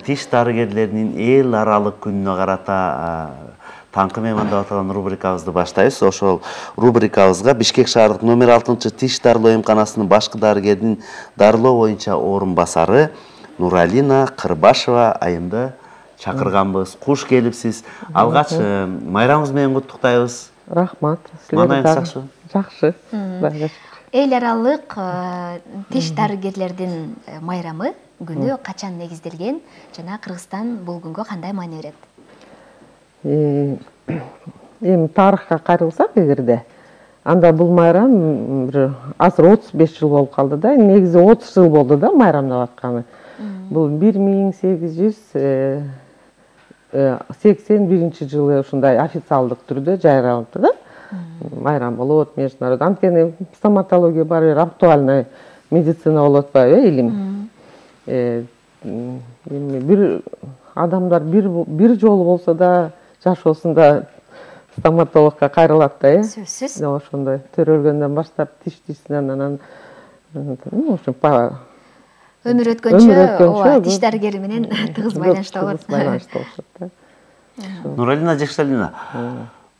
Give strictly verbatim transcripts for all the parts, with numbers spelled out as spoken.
тиш дарыгерлеринин эл аралык күнүнө карата таңкы меймандап аталган рубрикабызды баштайбыз. Ошол рубрикабызга Бишкек шаардык номер алтынчы тиш дарылоо эмканасынын башкы дарыгеринин дарылоо боюнча орун басары Нуралина Кырбашева айымды чакырганбыз. Куш келипсиз. Алгач майрамыңыз менен куттуктайбыз. Рахмат. Маанайыңыз жакшыбы? Жакшы. Эл аралык тиш дарыгерлердин майрамы күнү качан негизделген жана Кыргызстан бул күнгө кандай маани берет? Эми тарыхка кайрылсак эгерде, анда бул майрам бир азыр отуз беш жыл болуп калды да. Негизи отуз жыл болду да майрамдап атканы. Бул бир миң сегиз жүз сексен биринчи жылы ушундай официалдык түрдө жайралды да. Майрам болот, международный. Анткени стоматология баары бир актуальный медицина болуп атпайбы, илим. Эми бир адамдар бир бир жолу болсо да жашоосунда стоматологко кайрылат да, э? Сөзсүз. Ошондой төрөлгөндөн баштап тиштичинен анан өмүр өткөнчө ооба тиш дарыгери менен тыгыз байланышта болот. Байланышта болушат да. Нуралина Жекшалина,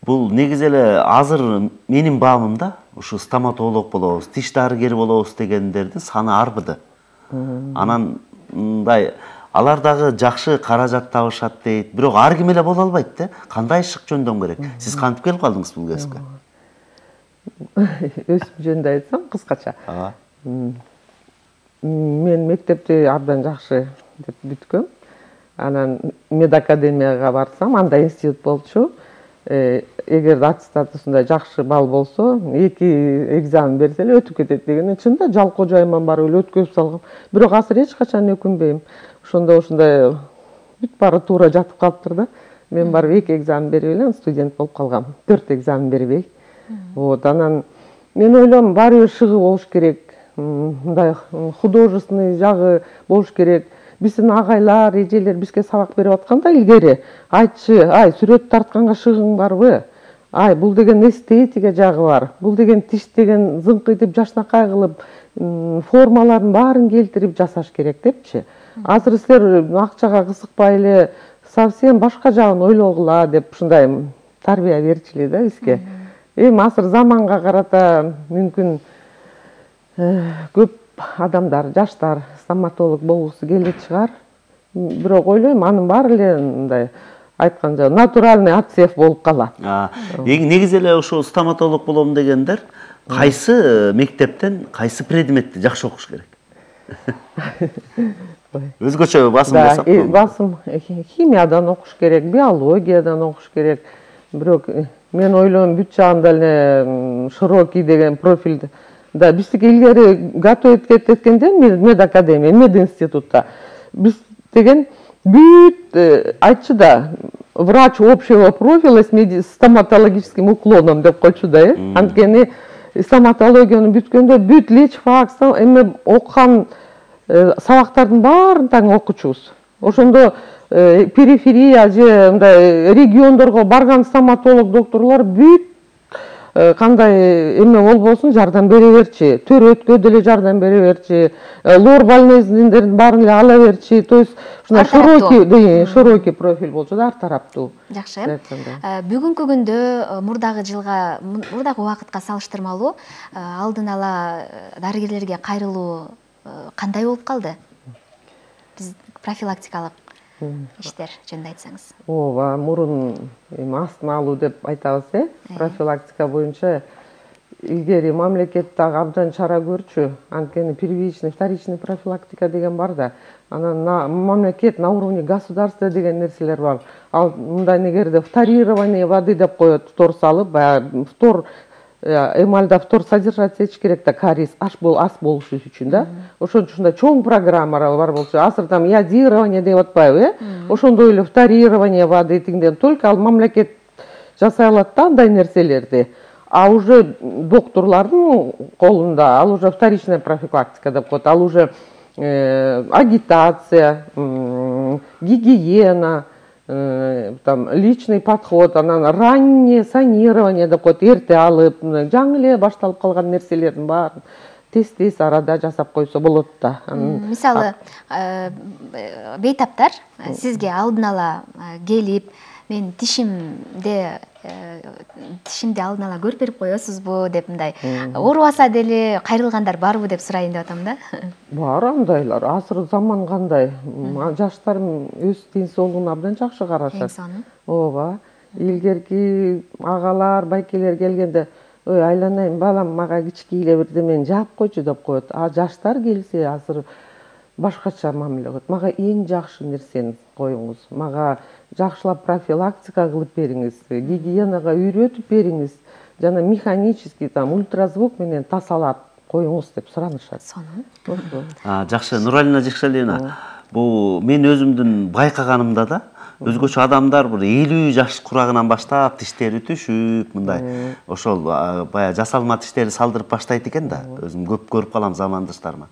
бул негизи эле азыр менин баамымда ушу стоматолог болобуз, тиш дарыгери болобуз дегендердин саны арбыды. Анан мындай алар дагы жакшы каражат табышат дейт. Бирок ар ким эле боло албайт да. Кандай ишик жөндөм керек? Сиз кантип келип калдыңыз бул кесипке? Өзүм жөнүндө айтсам кыскача. Мен мектепти абдан жакшы деп бүткөм. Анан медакадемияга барсам, анда институт болчу. Эгер аттестатусунда жакшы балл болсо, эки экзамен берсе эле өтүп кетет деген. Чында жалкоо жайман барып эле өткөзүп салгам. Бирок азыр эч качан өкүнбөйм. Ошондо ушундай бүт баары туура жатып калыптыр да. Мен барып эки экзамен берип эле студент болуп калгам. төрт экзамен бербей. Вот, анан мен ойлом баары бир шыгы болуш керек. Мындай художественный жагы болуш керек. Биздин агайлар, эжелер бизге сабак берип атканда илгери айтчы, ай, сүрөт тартканга шыгың барбы? Ай, бул деген эстетика жагы бар. Бул деген тиш деген зыңкыйтып, жашнакай кылып, формаларын баарын келтирип жасаш керек депчи. Азыр силер акчага кызыкпай эле совсем башка жагын ойлогула деп ушундай тарбия берчү да бизге. Эми азыр заманга карата мүмкүн көп адамдар, жаштар стоматолог болгусу келет чыгар. Бирок ойлойм, анын баары эле мындай айтканча натуральный отсев болуп калат. Негизи эле ошо стоматолог болом дегендер кайсы мектептен кайсы предметти жакшы окуш керек? Өзгөчө басым жасап. Басым химиядан окуш керек, биологиядан окуш керек. Бирок мен ойлойм бүт жагында эле широкий деген профиль да биздики илгери готовить эткенде медакадемия, мединститутта биз деген бүт айтчу да врач общего профиля с стоматологическим уклоном деп койчу да, э? Анткени стоматологияны бүткөндө бүт лечфак, эме окуган сабактардын баарын таң окучубуз. Ошондо периферия же мындай региондорго барган стоматолог докторлор бүт кандай эме болбосун жардам бере берчи, төрөткө деле жардам бере берчи, лор больнезиндердин баарын эле ала берчи. То есть ушундай широкий, широкий профиль болчу да, ар тараптуу. Жакшы. Бүгүнкү күндө мурдагы жылга, мурдагы убакытка салыштырмалуу алдын ала дарыгерлерге кайрылуу кандай болуп калды? Биз профилактикалык иштер жөнүндө айтсаңыз. Ооба, мурун эми астын алуу деп айтабыз, э? Профилактика боюнча илгери мамлекет дагы абдан чара көрчү. Анткени первичный, вторичный профилактика деген бар да. Анан мамлекет на уровне государства деген нерселер бар. Ал мындай негерде вторирование воды деп коет, фтор салып, баягы фтор эмальда фтор содержать этиш керек да, кариес аш бол ас болушу үчүн да. Ошон үчүн да чоң программалар бар болчу. Азыр там иодирование деп атпайбы, э? Ошондой эле вторирование воды тиңден только ал мамлекет жасай алат да андай нерселерди. А уже докторлордун колунда ал уже вторичная профилактика деп коет. Ал уже агитация, гигиена, там личный подход, анан раннее санирование деп коет, эрте алып, жаңы эле башталып калган нерселердин баарын тез тез арада жасап койсо болот да. Мисалы, бейтаптар сизге алдын ала келип, мен тишимде тишимди алдын ала көрүп берип коесузбу деп, мындай оорубаса деле кайрылгандар барбы деп сурайын деп атам да. Бар андайлар. Азыр заман кандай? Жаштар өз ден соолугуна абдан жакшы карашат. Ооба. Илгерки агалар, байкелер келгенде, ой, айланайын, балам, мага кички эле бирдемени жаап койчу деп коет. А жаштар келсе, азыр башкача мамиле кылат. Мага эң жакшы нерсени коюңуз. Мага жакшылап профилактика кылып бериңиз, гигиенага үйрөтүп бериңиз, жана механический там ультразвук менен тазалап коюңуз деп суранышат. Сонун. Жакшы, Нуралина Жекшалиевна, бул мен өзүмдүн байкаганымда да өзгөчө адамдар бир элүү жаш курагынан баштап тиштери түшүп, мындай ошол баягы жасалма тиштерди салдырып баштайт экен да. Өзүм көп көрүп калам замандаштарыма.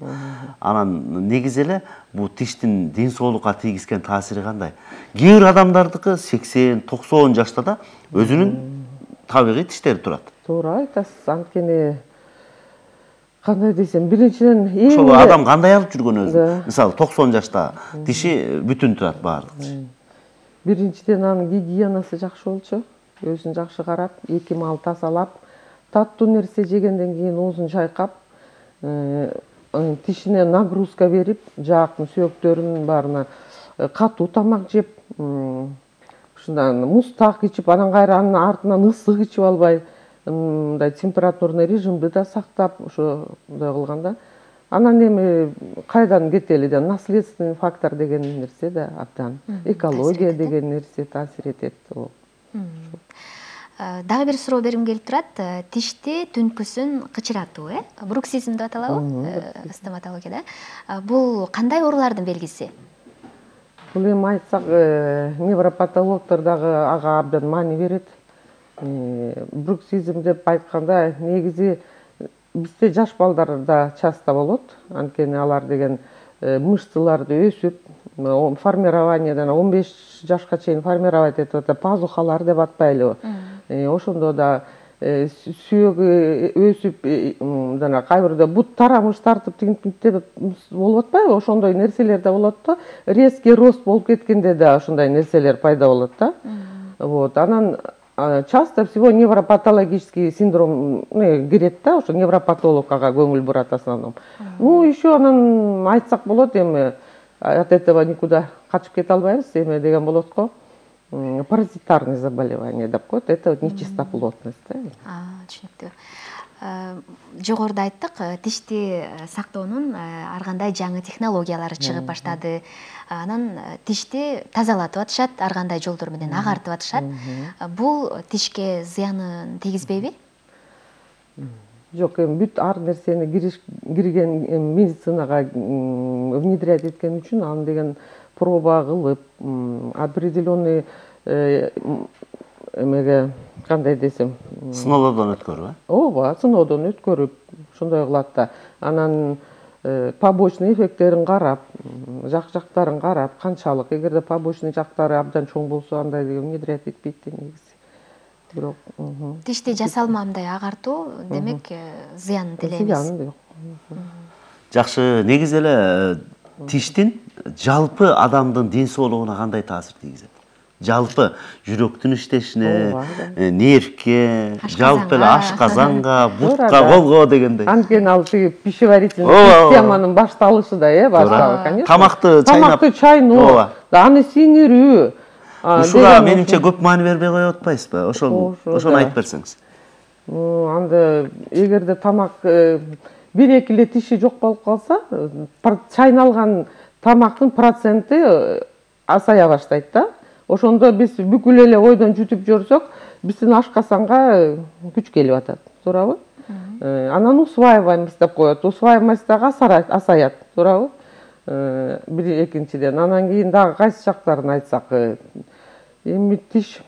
Анан негизи эле бул тиштин ден соолукка тийгизген таасири кандай? Кээ бир адамдардыкы сексен токсон жашта да өзүнүн табигый тиштери турат. Туура айтасыз. Анткени кандай десем, биринчиден эң ошол адам кандай алып жүргөн өзү? Мисалы токсон жашта тиши бүтүн турат баардык. Биринчиден анын гигиенасы жакшы болчу, өзүн жакшы карап, эки мал тазалап, таттуу нерсе жегенден кийин оозун чайкап, тишине нагрузка берип, жаактын сүйөктөрүнүн баарына катуу тамак жеп, ушундай муздак ичип, анан кайра анын артынан ысык ичип албай, мындай температурный режимди да сактап, ошондой кылганда, анан эми кайдан кетели да, наследственный фактор деген нерсе да абдан, экология деген нерсе таасир этет. Дагы бир суроо бергим келип турат. Тишти түнкүсүн кычыратуу, э? Бруксизм деп аталабы стоматологияда. Бул кандай оорулардын белгиси? Бул эми айтсак, невропатологдор дагы ага абдан маани берет. Бруксизм деп айтканда, негизи бизде жаш балдарда часто болот. Анткени алар деген мышцаларды өсүп, формированиядан он беш жашка чейин формировать этип атат, пазухалар деп атпайлыбы. Ошондо да сүйөгү өсүп, жана кайбирде бут тарамыш тартып тигинтип болуп атпайбы? Ошондой нерселер да болот да. Резкий рост болуп кеткенде да ошондой нерселер пайда болот да. Вот, анан часто всего невропатологический синдром кирет да, ошо невропатолог ага көңүл бурат основном. Ну, еще анан айтсак болот, эми от этого никуда качып кете албайбыз, эме деген болот го. Паразитарные заболевания деп коет, это нечистоплотность. А, түшүнүктүү. Жогоруда айттык, тишти сактоонун ар кандай жаңы технологиялары чыгып баштады. Анан тишти тазалатып атышат, ар кандай жолдор менен агартып атышат. Бул тишке зыянын тийгизбейби? Жок, эми бүт ар нерсени кирген медицинага внедрять эткен үчүн аны деген проба кылып, определенный эмеге кандай десем, сыноодон өткөрүп, э? Ооба, сыноодон өткөрүп, ошондой кылат да. Анан побочный эффекттерин карап, жак-жактарын карап, канчалык, эгерде побочный жактары абдан чоң болсо, андай внедрять этпейт да негизи. Бирок, тишти жасалмамдай агартуу, демек, зыянын тилейбиз. Зыянын жок. Жакшы, негизи эле тиштин жалпы адамдын ден соолугуна кандай таасир тийгизет? Жалпы жүрөктүн иштешине, нервке, жалпы эле ашказанга, бутка, колго дегендей. Анткени ал тиги пищеварительный системанын башталышы да, э, башталышы, конечно. Тамакты чайнап, тамакты чайноо, аны сиңирүү. Ушуга менимче көп маани бербей коюп атпайсызбы? Ошол, ошону айтып берсеңиз. Анда эгерде тамак бир-эки эле тиши жок болуп калса, чайналган тамактын проценти азая баштайт да. Ошондо биз бүкүл эле ойдон жүтүп жүрсөк, биздин ашкасанга күч келип атат, туурабы? Анан усваиваемость деп коет, усваиваемость дагы азаят, туурабы? Бир экинчиден, анан кийин дагы кайсы жактарын айтсак, эми тиш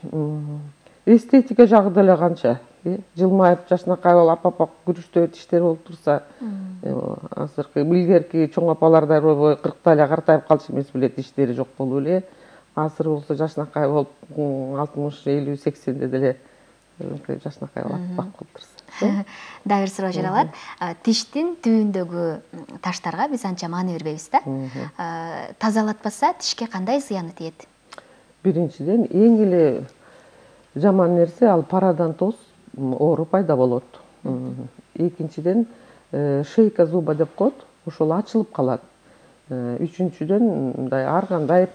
эстетика жагы деле канча, жылмайып, жашнакай болуп, апа-апа күрүчтүү тиштер болуп турса, азыркы илгерки чоң апалардай ойбой кыркта эле картайып калчу эмес беле, тиштери жок болуп эле. Азыр болсо жашнакай болуп, алтымыш, элүү, сексенде деле жашынакай атпак кылып турса. Дагы бир суроо жаралат. Тиштин түбүндөгү таштарга биз анча маани бербейбиз да. Тазалатпаса тишке кандай зыяны тиет? Биринчиден, эң эле жаман нерсе ал пародонтоз оору пайда болот. Экинчиден, шейка зуба деп коет, ошол ачылып калат. Үчүнчүдөн, мындай ар кандай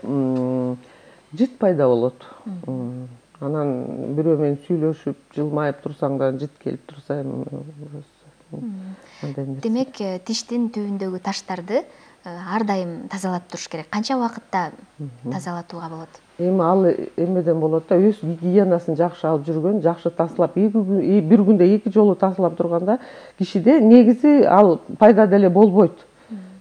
жыт пайда болот. Анан бирөө менен сүйлөшүп, жылмайып турсаң да жыт келип турса, демек, тиштин түбүндөгү таштарды ар дайым тазалап туруш керек. Канча убакытта тазалатууга болот? Эми ал эмеден болот да, өз гигиенасын жакшы алып жүргөн, жакшы тазалап, бир күндө эки жолу тазалап турганда кишиде негизи ал пайда деле болбойт.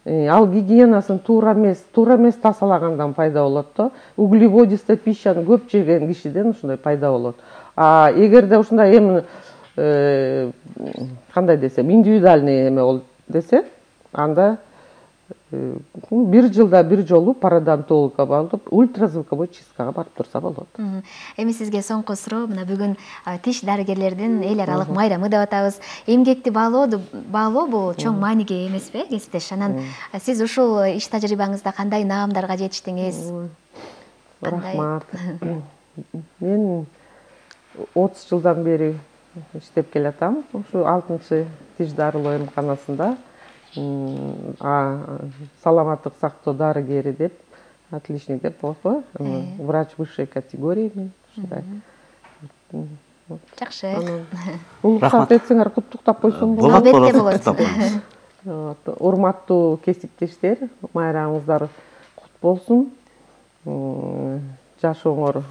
Ал гигиенасын туура эмес, туура эмес тазалагандан пайда болот да. Углеводисты пищаны көп жеген кишиден ушундай пайда болот. А эгерде ушундай эми кандай десем, индивидуальный эме бол десе, анда бир жылда бир жолу пародонтологко барып, ультразвуковой чисткага барып турса болот. Эми сизге соңку суроо, мына бүгүн тиш дарыгерлердин эл аралык майрамы деп атабыз. Эмгекти баалоо бул чоң мааниге эмеспи, кесиптеш? Анан сиз ушул иш тажрыйбаңызда кандай наамдарга жетиштиңиз? Рахмат. Мен отуз жылдан бери иштеп келатам. Ушу алтынчы тиш дарылоо эмканасында саламаттык сактоо дарыгери деп, отличник деп болот, врач высшей категории мен ушундай. Жакшы. Уруксат этсеңер куттуктап койсом болот. Албетте болот. Урматтуу кесиптештер, майрамыңыздар кут болсун. Жашооңор,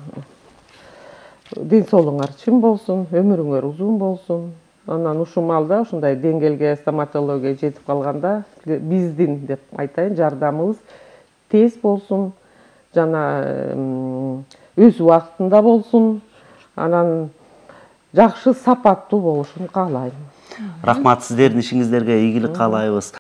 ден соолугуңар чың болсун, өмүрүңөр узун болсун. Анан ушул маалда ушундай деңгээлге стоматология жетип калганда биздин деп айтайын, жардамыбыз тез болсун, жана өз убактында болсун, анан жакшы сапаттуу болушун каалайм. Рахмат, сиздердин ишиңиздерге ийгилик каалайбыз.